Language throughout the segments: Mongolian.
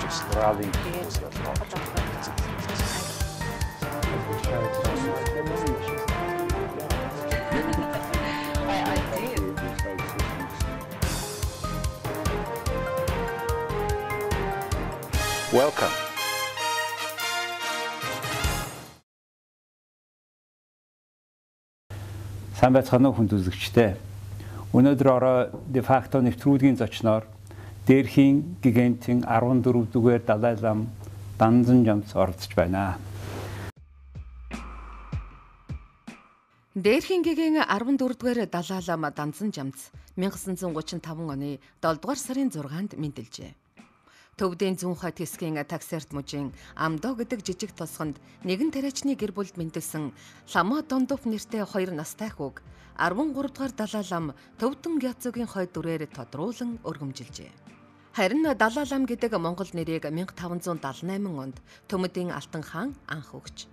Австралийн хүмүүс Welcome. Сайн байцгаана уу хүнд үзэгчдээ. Өнөөдөр орой де факто нэвтрүүлгийн зочноор Дээрхийн гигантын 14-р Далай лам Данзан Жамц оролцож байна. Дээрхийн гигийн 14-р Далай лам Данзан Жамц 1935 оны 7-р сарын 6-нд мэндэлжээ. Төвдийн зүүн хойд хэсгийн таксерт мужийн Амдоо гэдэг жижиг тосгонд нэгэн тариачны гэр бүлд мэндэлсэн Лама Дондоп нэртэй 2 настай хүүг 13 дугаар Далай лам Төвдөн Гяцугийн хойд дүрээр тодруулан өргөмжилжээ. Харин Далай лам гэдэг монгол нэрийг 1578 онд Төмөдийн Алтан хаан анх өгч.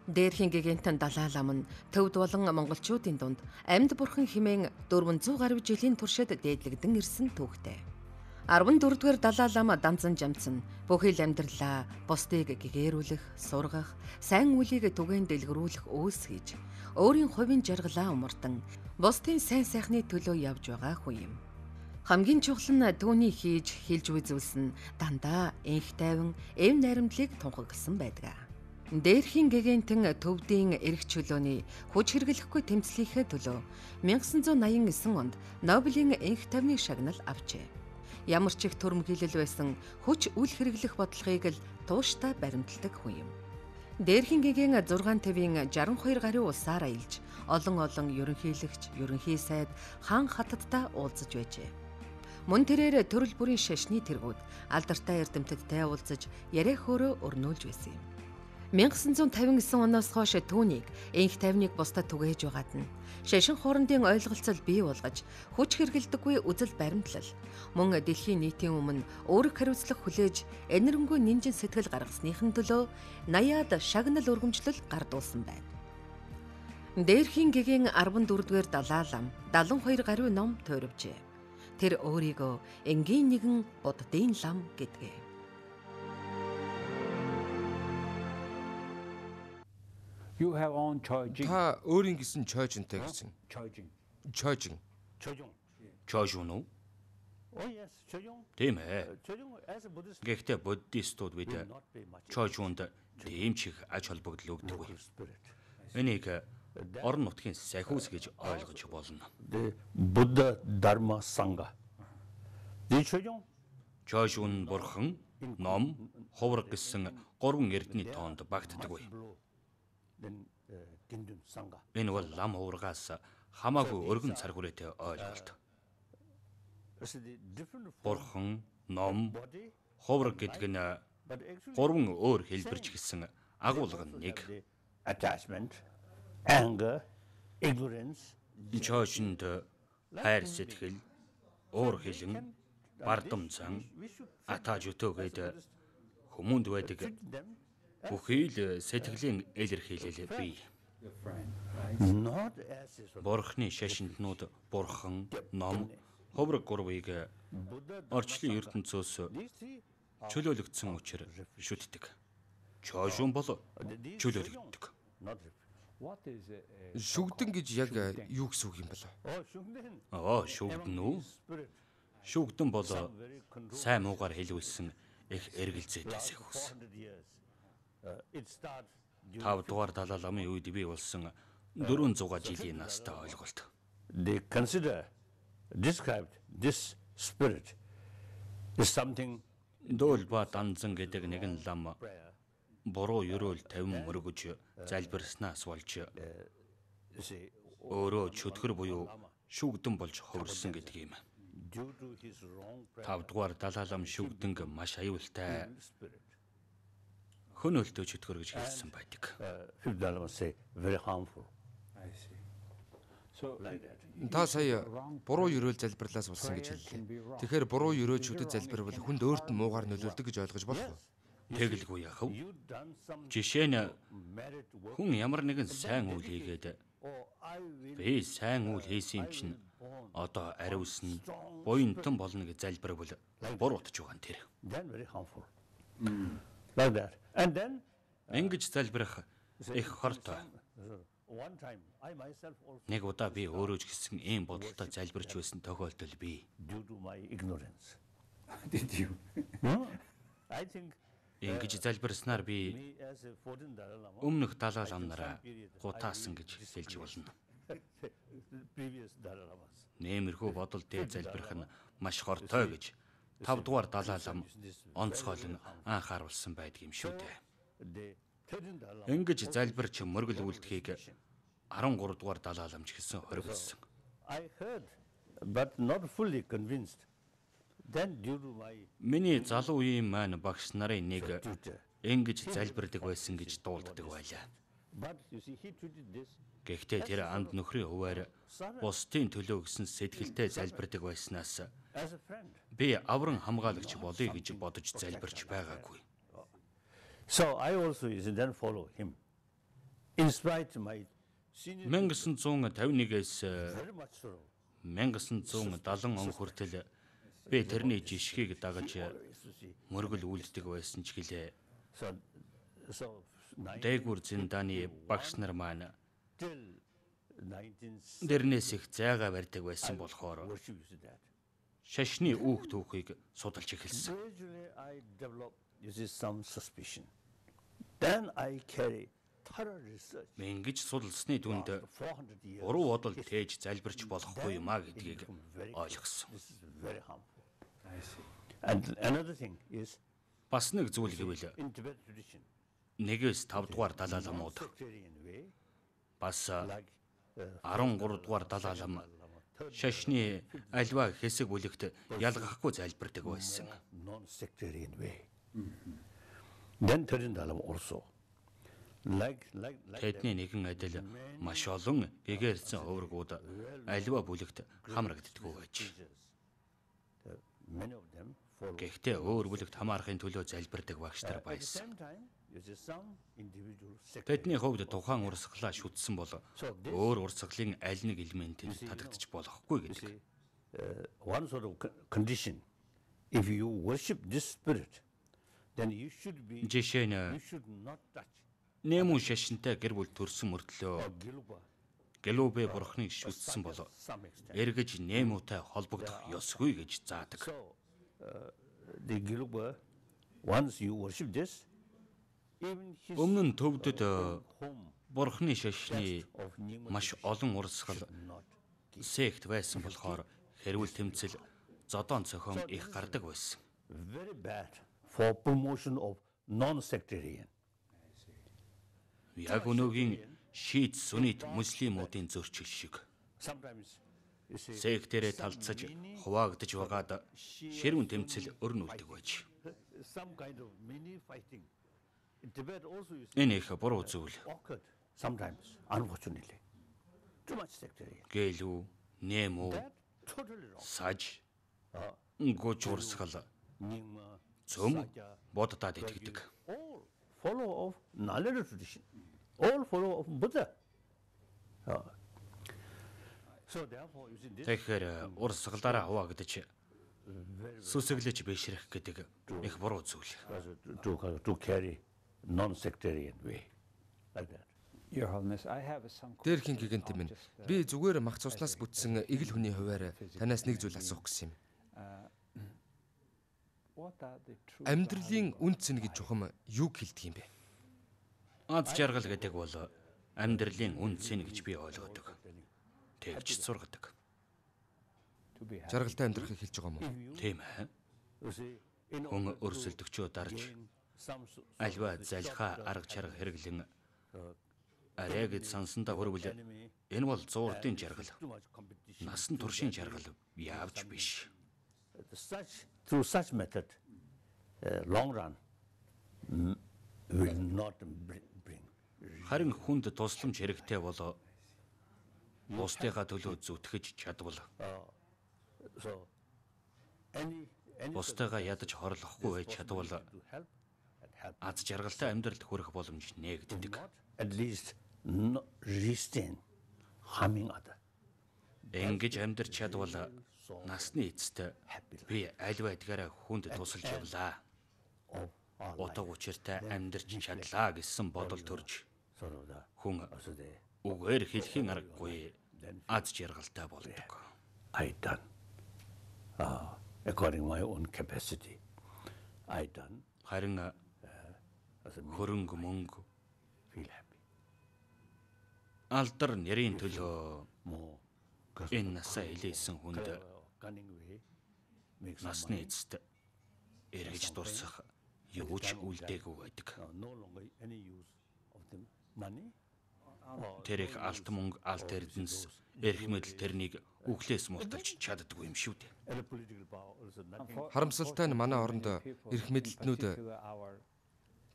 Дээрхийн гигантын Далай лам нь төвд болон монголчуудын дунд амьд бурхан хэмээн 400 гаруй жилийн туршид дээдлэгдэн ирсэн түүхтэй. 14-р Далай лам Данзан Жамц нь бүхэл амьдралаа бусдыг гэгээрүүлэх, сургах, сайн үлийг түгээн дэлгэрүүлэх үйлс хийж, өөрийн хувийн жаргалаа умардан бусдын сайн сайхны төлөө явж байгаа хүн юм. Хамгийн чухал нь түүний хийж, хэлж буй зүйлс нь дандаа энх тайван, эв найрамдлыг тунхагласан байдаг. Дээрхийн гигантын төвдийн эрх чөлөөний хүч хэрэглэхгүй тэмцлийнхээ төлөө 1989 онд Нобелийн энх тайвны шагнал авчээ. Ямар ч их төрөмгийлэл байсан хүч үл хэрэглэх бодлогыг л тууштай баримталдаг хүн юм. Дээрхийн гигийн 6 тавийн 62 гаруй улсаар аялж, олон ерөнхийлөгч, ерөнхий сайд, хаан хатадтай уулзаж байжээ. Мөн тэрээр төрөл бүрийн шашны тэргүүд алдартай эрдэмтдтэй уулзаж, яриа хөөрөө өрнүүлж байсан юм. 1959 оноос хойш түүнийг энх тайвныг бусдад түгээж байгаад нь шашин хоорондын ойлголцол бий болгож хүч хэргэлдэггүй үзэл баримтлал мөн дэлхийн нийтийн өмнө өөрөг хариуцлах хүлээж энэрэнгүй нинжин сэтгэл гаргасныхын төлөө 80-аад шагнал өргөмжлөл гардуулсан байна. Дээрхийн гигийн 14-р Далай лам 72 гаруй ном туйрвжээ. Тэр өөрийгөө энгийн нэгэн буддын лам гэдгээ. Та өөрийн гэсэн чойжинтэй гэсэн. Чойжин. Чойжин уу? Тийм ээ. Гэхдээ буддистууд бид чойжинд тийм ч их ач холбогдол өгдөггүй. Энийг орон нутгийн сахиус гэж ойлгож болно. Будда Дharma Sangha. Чойжин бурхан, ном, хувраг гэсэн 3 эрдний тоонд багтдаггүй. Энэ бол лам хуврагаас хамаагүй өргөн цар хүрээтэй ойлголт. Бурхан, ном, хувраг гэдэг нь 3 өөр хэлбэрч гэсэн агуулга нь нэг. Attachment, anger, ignorance. Чойжинд хайр сэтгэл, уур хилэн, бардам зан, атаж өтөөгээд хүмүүнд байдаг бүхий л сэтгэлийн илэрхийлэл бий. Бурхны шашинтнууд бурхан, ном, хувраг гурвыг орчлын ертөнцөөс чөлөөлөгдсөн учраас шүтдэг. Чойжин бол чөлөөлөгддөг. Шүгдэн гэж яг юу гэсэн үг юм бэ? Шүгдэн үү? Шүгдэн бол сайн муугаар хэлүүлсэн их эргэлзээтэй сэхүүс. 5 дугаар Далай ламын үед бий болсон 400 жилийн настай ойлголт. They described this spirit is something. Дөөл ба Данзан гэдэг нэгэн лам буруу ерөөл тавин мөргөж залбирснаас болж өөрөө чөтгөр буюу шүгдэн болж хувирсан гэдэг юм. 5 дугаар Далай лам шүгдэнг маш аюултай хөнөөлтөө чөтгөр гэж хэлсэн байдаг. Very harmful. Та сая буруу ерөөл залбирлаас болсон гэж хэллээ. Тэгэхээр буруу ерөөчүүдэд залбирвал хүнд өөрт нь муугаар нөлөөлдөг гэж ойлгож болох уу? Тэгэлгүй яах вэ? Жишээ нь хүн ямар нэгэн сайн үйл хийгээд би сайн үйл хийсэн юм чинь одоо ариусна буянтан болно гэж залбирвал буруутж байгаа нь тэр. Like that. And then Ингэж залбирах их хортой. one time I myself also, Нэг удаа би өөрөө ч гэсэн ийм бодолтой залбирч байсан тохиолдол бий. due to my ignorance, Did you? I think Ингэж залбирснаар би me as a 14 Dalai Lama, өмнөх Далай ламнараа гутаасан гэж хэлж болно. previous Dalai Lamas, Нэмэрхүү бодол дээр залбирах нь маш хортой гэж 5 дугаар Далай лам онцгойлон анхааруулсан байдаг юм шүү дээ. the 13 Dalai Lama, Ингэж залбирч мөргөл үлдэхийг 13 дугаар Далай ламч гэсэн хоригдсон. I heard, but not fully convinced. Then due to my Миний залуу үеийн маань багш нарын нэг tutor, ингэж залбирдаг байсан гэж дуулддаг байлаа. but you see, he treated this Гэхдээ тэр анд нөхрийн хуваар бусдын төлөө гэсэн сэтгэлтэй залбирдаг байснаас as a friend. би авран хамгаалагч болъё гэж бодож залбирч байгаагүй. So I also is then follow him. In spite my senior 1951-ээс very much so. 1970 он хүртэл би тэрний жишгийг дагаж мөргөл үлддэг байсан ч гэлээ. So Дээгүр зиндааны багш нар маань till 19 дэрнээс их зайгаа барьдаг байсан болохоор worship you see that. шашны үүх түүхийг судалж эхэлсэн. Gradually I developed you see some suspicion. Then I carry thorough research. Ингэж судалсны түнд 400 years. буруу бодол тээж залбирч болохгүй юм а гэдгийг ойлгосон. This is very harmful. And another thing is Бас нэг зүйл гэвэл in Tibet tradition, 1-ээс 5 дугаар Далай ламууд sectarian way, бас like 13 дугаар Далай лам шашны альва хэсэг бүлэгт ялгахгүй залбирдаг байсан. non-sectarian way. Then 13 Dalai Lama also. Like Тэдний нэгэн адил маш олон гэгээрсэн хуврагууд альва бүлэгт хамрагддаггүй байж. many of them follow. Гэхдээ өөр бүлэгт хамаарахын төлөө залбирдаг багш нар At the байсан. same time, you see some individual sectarian. Тэдний хувьд тухайн урсгалаа шүтсэн бол өөр урсгалын аль нэг элементэд татагдчих болохгүй You гэдэг. see, one sort of condition. If you worship this spirit, then you should Жишээ нь you should not touch нэмүн шашинтай гэр бүл төрсөн мөртлөө Giluba Гэлүбэ бурхныг шүтсэн бол some extent. эргэж нэмүүтэй холбогдох ёсгүй гэж заадаг. So, the Giluba, once you worship this, even his Өмнө нь төвдөд home бурхны шашны of Nyingma маш олон урсгал not. сект байсан болохоор хэрүүл тэмцэл зодоон цохом их гардаг байсан. Very bad for promotion of non-sectarian. Яг өнөөгийн шийд сүнит муслимуудын зөрчил шиг Sometimes you see сектэрээ талцаж хуваагдж байгаад ширүүн тэмцэл өрнүүлдэг байж. some kind of mini fighting. In Tibet also you see Энэ их буруу зүйл. occurred sometimes, unfortunately. Too much sectarian. Гэлүү, нэмүү, That totally wrong. саж, гуж урсгал, Nyingma, цөм Saja, боддод итгэдэг. all follow of Nalanda tradition, all follow of Buddha. So therefore, you see this Тэгэхээр урсгалаараа хуваагдаж сүсэглэж бишрэх гэдэг их буруу зүйл. to carry non-sectarian way, like that. Your Holiness, I have some Дээрхийн гигэн тийм ээ. Би зүгээр мах цуснаас бүтсэн игэл хүний хуваар танаас нэг зүйл асуух гэсэн юм. What are the true Амьдралын үн цэн гэж чухам юг хэлдэг юм бэ? Аз жаргал гэдэг бол амьдралын үн цэн гэж би ойлгодог. Тэгж сургадаг. to be happy? Жаргалтай амьдрахыг хэлж байгаа юм уу? Тийм ээ. You see, in Хүн өрсөлдөгчөө дарж gain some альва залхаа арга чарга хэрэглэн арай гэж сансандаа хөрвөл enemy, энэ бол зуурдын жаргал. too much competition. Насан туршийн жаргал яавч биш. Through such method, long run will not bring. Харин хүнд тусламж хэрэгтэй бол бусдыгаа төлөө зүтгэж чадвал So, any бусдыгаа ядаж хорлохгүй байж чадвал to help and help. аз жаргалтай амьдралд хүрэх боломж нээгддэг. Not at least not restrain harming other. Ингэж амьдрч чадвал насны эцэст би аль байдгаараа хүнд тусалж явлаа утга учиртай амьдарч чадлаа гэсэн бодол төрж хүн үгээр хэлхийн аргагүй аз жаргалтай болдог. I done according my own capacity. I done Харин хөрөнгө мөнгө feel happy. алдар нэрийн төлөө More энэ насаа илээсэн хүнд cunning way makes насны эцэст эргэж дурсах юу ч үлдээгүй байдаг. no longer any use of the money. Тэр их алт мөнгө, алт эрдэнэс, эрх мэдэл тэрнийг үхлээс мурталж чаддаггүй юм шүү дээ. And the political power also nothing. Харамсалтай нь манай оронд эрх мэдэлтнүүд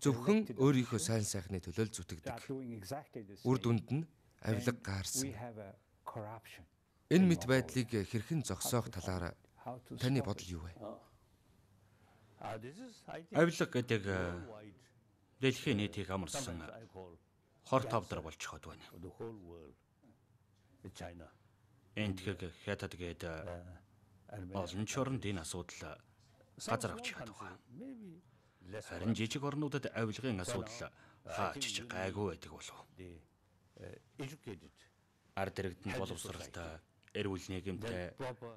зөвхөн өөрийнхөө сайн сайхны төлөө л зүтгэдэг. Үр дүнд нь авилга гаарсан. Энэ мэт байдлыг хэрхэн зогсоох талаар таны бодол юу вэ? This is, I think, Авилга гэдэг wide дэлхийн нийтийг амарсан I call хор тавдар болчиход байна. for the whole world. China. Энэ тэгэхээр хятад гэдэг олон чорнд энэ асуудал газар авч чаддаг. Maybe less Харин жижиг орнуудад авилгын асуудал хаач ч гайгүй байдаг болов. the educated, Ард иргэдэнд боловсралтай, эрүүл нийгэмтэй, proper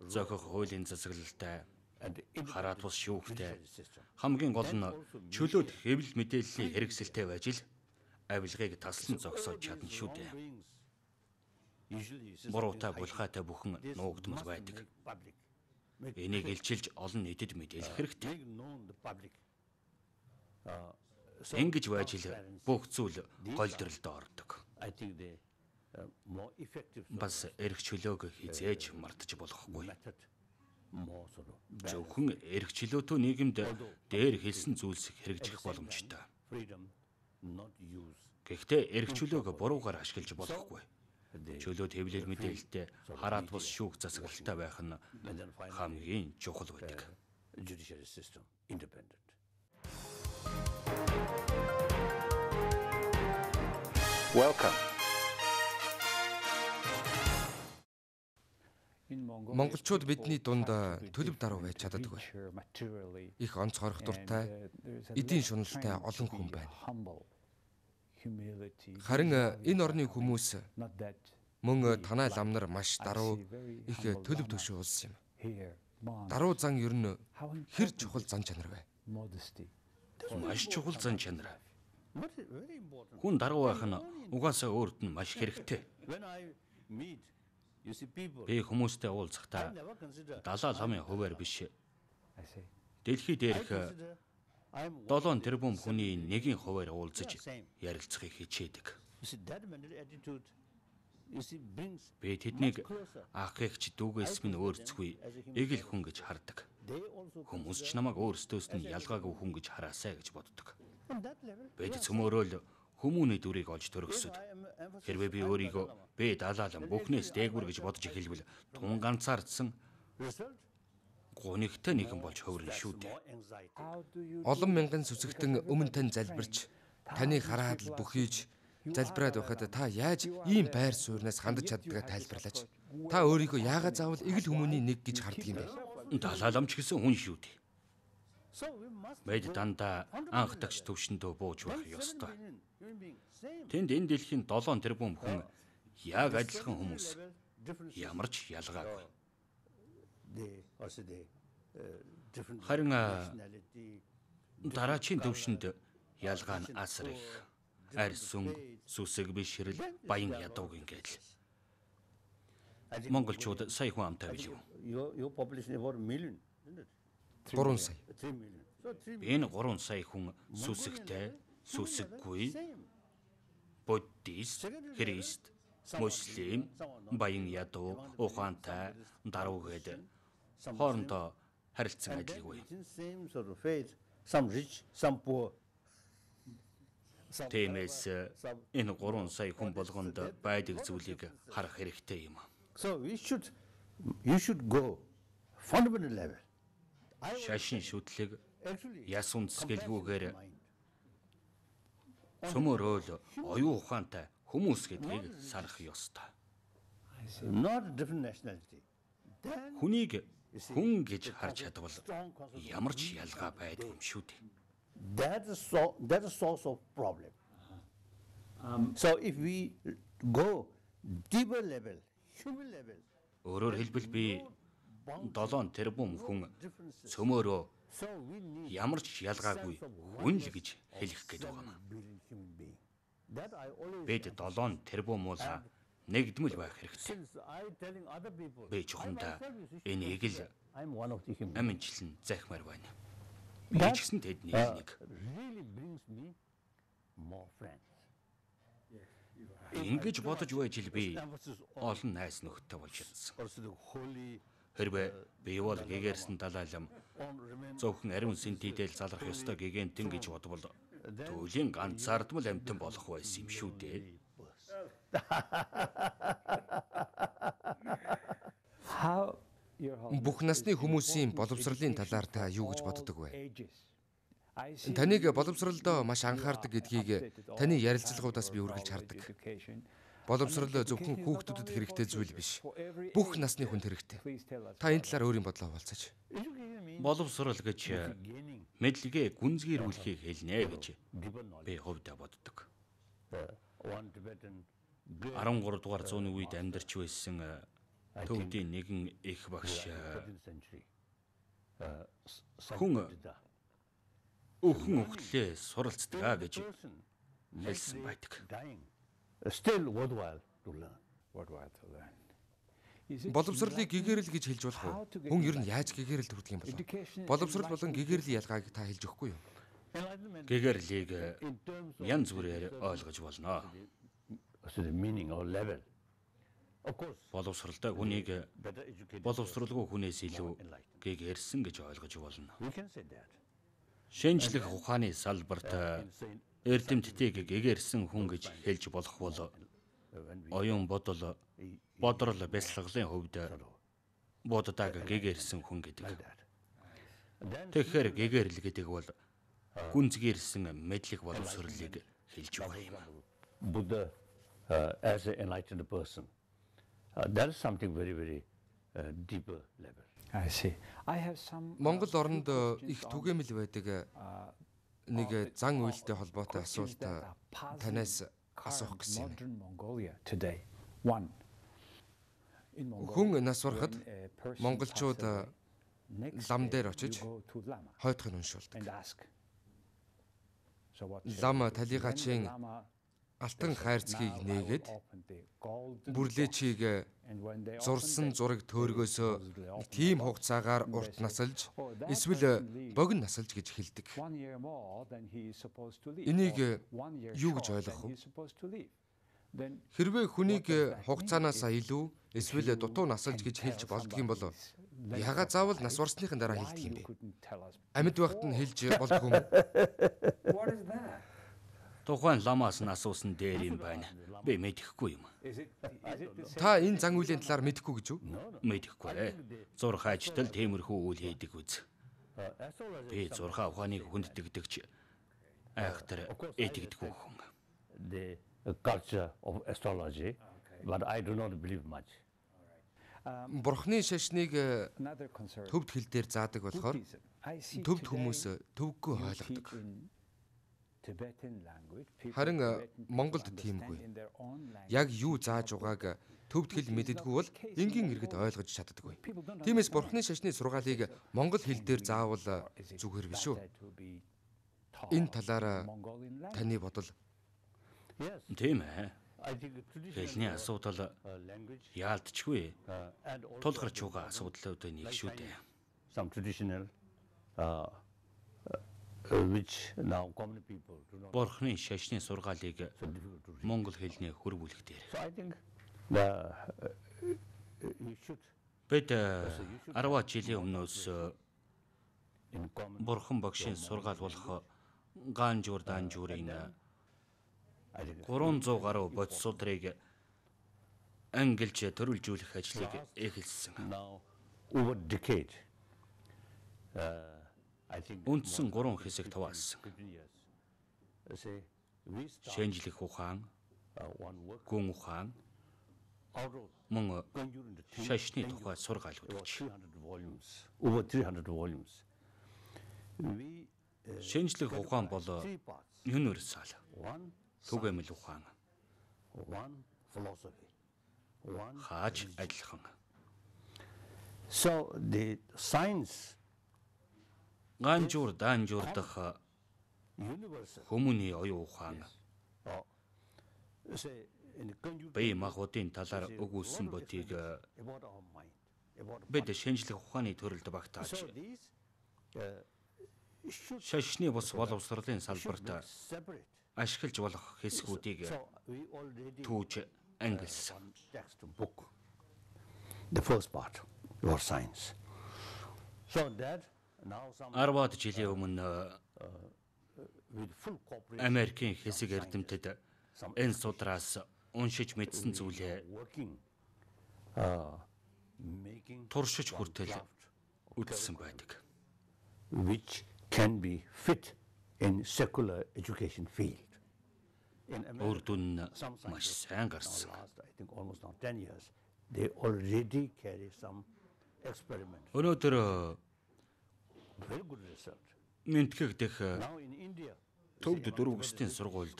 зохих хуулийн засаглалтай, and хараат бус шүүхтэй, independent system. хамгийн гол нь чөлөөт хэвлэл мэдээллийн хэрэгсэлтэй байж л авилгыг таслан зогсоож чадна шүү дээ. Usually, Буруутай булхаатай бүхэн нуугдмал байдаг. public. Энийг илчилж олон нийтэд мэдээлэх хэрэгтэй. Make known the public. Ингэж байж л бүх зүйл голдролд ордог. I think the more effective Бас эрх чөлөөг хизээж мартаж болохгүй. method, more sort of Зөвхөн эрх чөлөөтэй нийгэмд дээр хэлсэн зүйлс хэрэгжих боломжтой. freedom, not use. Гэхдээ эрх чөлөөг буруугаар ашиглаж болохгүй. Чөлөөт хэвлэл мэдээлэлтэй хараат бус шүүх засаглалтай байх нь And then finally, хамгийн чухал байдаг. judiciary system, independent. Welcome. Монголчууд бидний дунд төлөв даруй байж чаддаггүй. Их онцгойрох дуртай, эдийн шуналтай олон хүн байна. Харин энэ орны хүмүүс мөн танай лам нар маш даруй их төлөв төшөө улс юм. Даруй зан ер нь хэр чухал зан чанар вэ? Маш чухал зан чанар. What is very important. Хүн даруй байх нь угаасаа өөрт нь маш хэрэгтэй. When I meet, you see people, Би хүмүүстэй I уулзахдаа never consider. далаа ламын хуваар биш. I see. Дэлхий I дээрх consider I'm 7 тэрбум хүний нэгийн хуваар уулзаж ярилцахыг хичээдэг. You see that mental attitude. You see brings. Би тэднийг ах эгч дүүгээс минь өөрцгүй эгэл хүн гэж хардаг. They also Хүмүүс ч намайг өөрсдөөс нь ялгаагүй хүн гэж хараасай гэж боддог. on that level. Бид цөмөөрөөл хүмүүний дүрийг олж төрөсөд I am emphasizing. хэрвээ би өөрийгөө бэ далаалан бүхнээс дээгүр гэж бодож эхэлвэл тун ганцаардсан Result. гунигтай нэгэн болж хувирна шүү дээ. More anxiety. Олон мянган сүсэгтэн өмнө тань залбирч таны хараад л бүхийж залбираад байхад та яаж ийм байр сууриас хандаж чаддгаа тайлбарлаач. Та өөрийгөө яагаад заавал эгэл хүмүүний нэг гэж хардаг юм бэ? Далааламч гэсэн хүн шүү дээ. So we must. Бид дандаа анх тагч төвшөндөө бууж байх ёстой. Human being same. Тэнд энэ дэлхийн 7 тэрбум хүн яг адилхан хүмүүс. Level, different. Ямар ч ялгаагүй. They also they different. Харин nationality. дараачийн төвшөнд ялгаа нь асар их. Арь сүн, сүсэг бишрэл, баян ядууг ингээл. Монголчууд сая хүн амтай биш үү? Your population about a million, isn't it? 3 сая. 3 million. So 3 million. Энэ 3 сая хүн сүсэгтэй, сүсэггүй, буддист, христ, муслим, баян ядуу, ухаантай, даруй гэдэг хоорондоо харилцан адилгүй. Same sort of faith. Some rich, some poor. Тиймээс энэ 3 сая хүн болгонд байдаг зүйлийг харах хэрэгтэй юм. So you should go fundamental level. Шашин шүтлэг Actually, яс үндэсгэлгүйгээр mind. цөмөрөөл оюун ухаантай хүмүүс гэдгийг санах ёстой. Not a different nationality. Then Хүнийг хүн гэж харж чадвал ямар ч ялгаа байдгүй юм шүү дээ. That is source of problem. So if we go deeper level, human level, Өөрөөр хэлбэл би 7 тэрбум хүн цөмөөрөө so we need ямар ч ялгаагүй хүн л гэж хэлэх гээд байгаа юм. billion human being. That I always Бид 7 тэрбум уул нэгдмэл байх хэрэгтэй. since I telling other people. Би чухамдаа энийг л I'm one of the human. аминчлан захимаар байна. Би ч гэсэн тэдний нэг. Really brings me more friends. Ингэж бодож байж л би олон найз нөхдөд болж чадсан. Also the holy Хэрвээ би бол гэгэрсэн далайлам зөвхөн ариун сэнтидэл залрах ёстой гэгэнтэн гэж бодвол түүлийн ганцаардмал амьтан болох байсан юм шүү дээ. Бүх насны хүмүүсийн боловсролын талаар та юу гэж боддог вэ? Таныг боловсролдоо маш анхаардаг гэдгийг таны ярилцлагуудаас би үргэлж хардаг. Боловсрол зөвхөн хүүхдүүдэд хэрэгтэй зүйл биш. Бүх насны хүнд хэрэгтэй. Та энэ талаар өөрийн бодлоо хуваалцаач. Боловсрол гэж мэдлэгээ гүнзгийрүүлэхийг хэлнэ гэж би хувьдаа боддог. 13 дугаар зууны үед амьдарч байсан төвдийн нэгэн их багш хүн өхөн өхлөө суралцдаг гэж хэлсэн байдаг. Still worthwhile to learn. Боловсролыг гэгэрэл гэж хэлж болох уу? Хүн ер нь яаж гэгэрэл төрдөг юм бол? Боловсрол болон гэгэрлийн ялгааг та хэлж өгөхгүй юу? Гэгэрлийг янз бүрээр ойлгож болно. So the meaning or level. Of course, Боловсролтой хүнийг better educated. боловсролгүй хүнээс илүү гэгэрсэн гэж ойлгож болно. We can say that. Шинжлэх ухааны салбарт эрдэмтдийг гэгэрсэн хүн гэж хэлж болох бол оюун бодрол бясалгалын хувьд боддог гэгэрсэн хүн гэдэг. Тэгэхээр гэгэрл гэдэг бол гүнзгийрсэн мэдлэг боловсролыг хэлж байгаа юм. Buddha as an enlightened person. That is something very, very deeper level. I see. I have some Монгол оронд их түгээмэл байдаг нэг зан үйлтэй холбоотой асуулт танаас асуух гэсэн юм. modern Mongolia today. One. In Хүн нас барахад монголчууд next лам day дээр очиж you go to Lama хойдохыг уншуулдаг. and ask. So what? Лам талигачийн Lama алтан хайрцгийг нээгээд opened the golden бүрлээчийг and when they зурсан зураг төөргөөсөө нэг тийм хугацаагаар урт насалж эсвэл богино насалж гэж хэлдэг. 1 year more than he is supposed to leave. Энийг or 1 year юу гэж short ойлгох than вэ? he is supposed to leave. Then Хэрвээ хүнийг хугацаанаасаа илүү эсвэл дутуу насалж гэж хэлж болдго юм бол ягаад заавал нас барсныхын дараа хэлдэг юм you бэ? couldn't tell us. Амьд байхад нь хэлж болдго юм. What is that? Тухайн ламаас нь асуусан дээр юм байна. Би мэдэхгүй юм. Is it the same? Та энэ зан үйлийн талаар мэдэхгүй гэж үү? Мэдэхгүй. Зурх ажилтал тиймэрхүү үйл хийдэг үз. Би зурх ухааныг хүндэтгэдэгч айхтар этигдэггүй хүн. The culture of astrology, but I do not believe much. Бурхны шашныг Another concern. төвд хэл дээр заадаг болохоор Buddhism. I see төвд today хүмүүс төвггүй you ойлгодог. speak in Tibetan language. People Харин in Tibetan people Монголд understand тиймгүй. in their own language. Яг юу зааж байгааг төвд хэл мэддэггүй бол энгийн иргэд ойлгож чаддаггүй. Тиймээс Бурхны шашны сургаалыг монгол хэл дээр заавал зүгээр биш үү? That to be taught Энэ талаар Mongolian language. таны бодол Yes, Тийм ээ. I think Хэлний traditional асуудал language яалтчгүй and also тулгарч байгаа асуудлуудын нэг шүү дээ. some traditional which now common people do not. Бурхны шашны сургаалыг So difficult to read. монгол хэлний хөрвүүлэх дээр. So I think you should Бид 10 жилийн өмнөөс in common. Бурхан багшийн сургаал болох Ганжуур Данжуурын I think 300 гаруй бодисуудрыг ангилж төрүүлжүүлэх ажлыг эхэлсэн. now over decade. I think Үндсэн 3 хэсэг хуваасан. 15 years. Say we start Шинжлэх ухаан, one work гүн ухаан, out of мөн conjuring the thing, шашны тухай сургаалууд over өгч. 300 volumes. Over 300 volumes. We шинжлэх ухаан бол universal. One Түгээмэл ухаан. one philosophy, one. Хааж адилхан. So the science Ганжуур даанжуурдах universal. хүмүүний оюун ухаан Say in the conjugal бие махбодын талаар өгүүлсэн бодийг about our mind, about бид шинжлэх ухааны төрөлд багтааж so these should шашны бус боловсролын be салбарт separate. ашиглаж болох хэсгүүдийг So we already түүж ангилсан. one textbook. The first part, your science. So that now some 10-аад жилийн өмнө with full cooperation Америкийн хэсэг эрдэмтэд энэ судраас уншиж мэдсэн зүйлээ working, making туршиж хүртэл үтсэн байдаг. which can be fit in secular education field. In Үр America, дүн нь some маш scientists сайн now гарсан. last, I think almost now 10 years, they already carry some experiments. Өнөөдөр Very good research. Мэнтгэх дэх Now in India, төвд дөрөв өсгийн сургуульд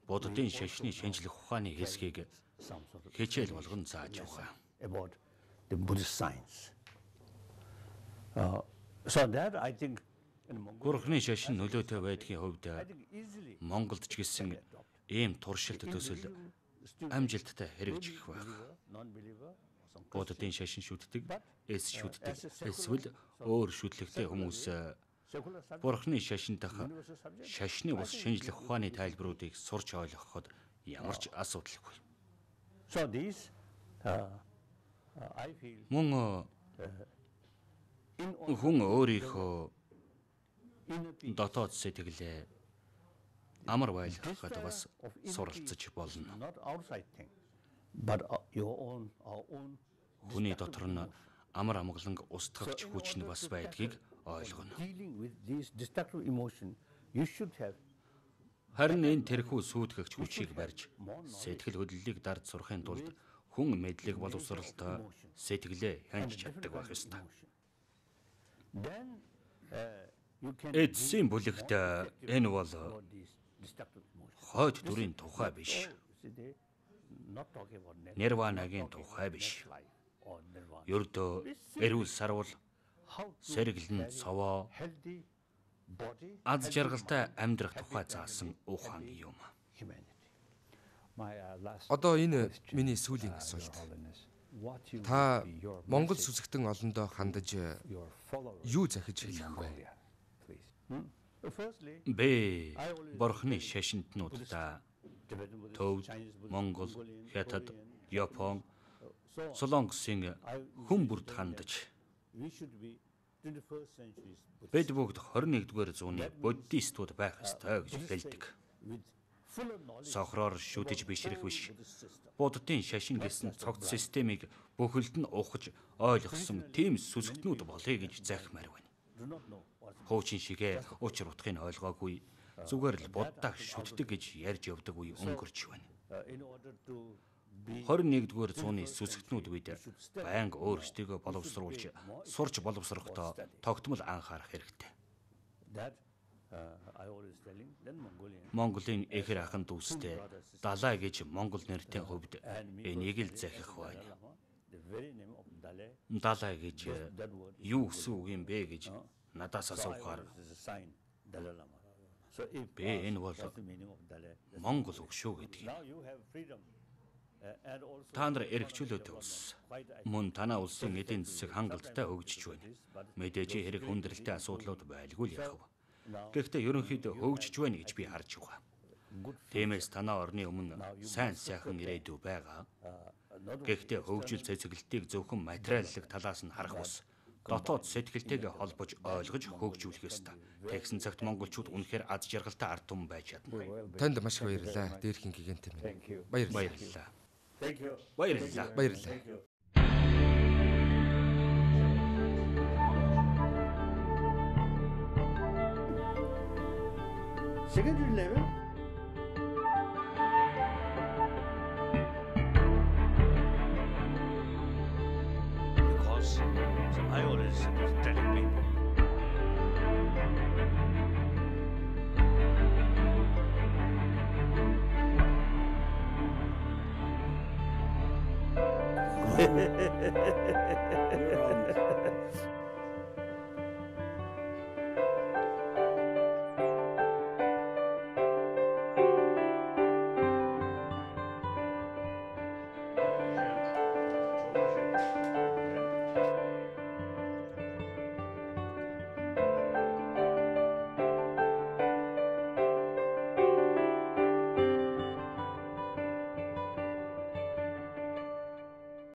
буддын шашны шинжлэх ухааны хэсгийг some sort of хичээл болгон зааж байгаа. about the Buddhist science. So that I think in Mongolia, Гурхны шашин нөлөөтэй байдгийн хувьд I think easily Монголд ч гэсэн ийм туршилт төсөл амжилттай хэрэгжих байх. non-believer, some Буддын шашин шүтдэг, эс шүтдэг, эсвэл өөр шүтлэгтэй хүмүүс secular subject, Бурхны шашин дах universal subject. шашны бус шинжлэх ухааны тайлбаруудыг сурч ойлгоход ямар ч асуудалгүй. So these, I feel, Мөн in хүн өөрийнхөө inner peace, дотоод сэтгэлээ амар байлгахад бас суралцаж болно. not outside thing, but your own, our own. Хүний дотор нь амар амгаланг устгагч хүч нь бас байдгийг ойлгоно. Dealing with these destructive emotion, you should have Харин энэ тэрхүү сүйтгэгч хүчийг барьж сэтгэл хөдлөлийг дард сурахын тулд хүн мэдлэг боловсролтой сэтгэлээ хянж чаддаг байх ёстой. then you can Эцсийн бүлэгт энэ бол about these destructive emotions. хойд дүрийн тухай биш. See, they not talking about Нирванагийн тухай биш. life or nirvana. Ердөө эрүүл сарвал, How to сэргэлэн цовоо, healthy body, аз жаргалтай амьдрах тухай заасан ухаан юм. humanity. Одоо энэ миний сүүлийн асуулт. Та Монгол сүсгтэн олондоо хандаж юу захиж хэлэх вэ? Firstly, Бэ Бурхны шашинтнуудаа Tibetan Buddhist, Төвд, Chinese Buddhist, Монгол, Mongolian, Хятад, Korean, Япон, so Солонгосын хүн бүрд хандаж we should be 21st century's Buddhist бид бүгд 21-р зууны буддистууд байх ёстой гэж хэлдэг. with fuller knowledge Сохроор шүтэж бишрэх биш. Buddhist system. Буддын шашин гэсэн цогц системийг бүхэлд нь ухаж ойлгосон тийм сүсгтнүүд болъё гэж захимаар байна. Do not know what Хуучин шигээ учир утгыг ойлгоогүй зүгээр л буддаа шүтдэг гэж ярьж явдаг үе өнгөрч байна. in order to be 21-р зууны сүсгтнүүд үед байнга өөрсдийгөө боловсруулж сурч боловсрохдоо тогтмол анхаарах хэрэгтэй. that I always telling then Mongolian Монголын эхэр ахын дүүстэй Далай гэж монгол нэртэй хувьд энийг л захих байна. Lama, the very name of Dalai, Далай гэж that word юу гэсэн үг юм бэ гэж надаас асуухаар is a sign Dalai Lama. So if би энэ бол that's the meaning of Dalai. монгол үг шүү гэдэг. Now you have freedom and also Та нар эрхчлөөтэй улс. Мөн танаа улсын эдийн засаг хангалттай хөгжиж байна. Мэдээж хэрэг хүндрэлтэй асуудлууд байлгүй л яхав. Гэхдээ ерөнхийдөө хөгжиж байна гэж би харж байгаа. Тиймээс танаа орны өмнө сайн сайхан ирээдүй байгаа. Гэхдээ хөгжил цэцгэлтийг зөвхөн материаллык талаас нь харах ус дотоод сэтгэлтэйгээ холбож ойлгож хөгжүүлэх ёстой. Тэгсэн цагт монголчууд үнэхээр аз жаргалтай ард түмэн байж чадна. Танд маш их баярлалаа. Дээрхийн гигантэ минь. Баярлалаа. Баярлалаа. thank you. Баярлалаа. Баярлалаа. Secondary level, because I always telling people You're on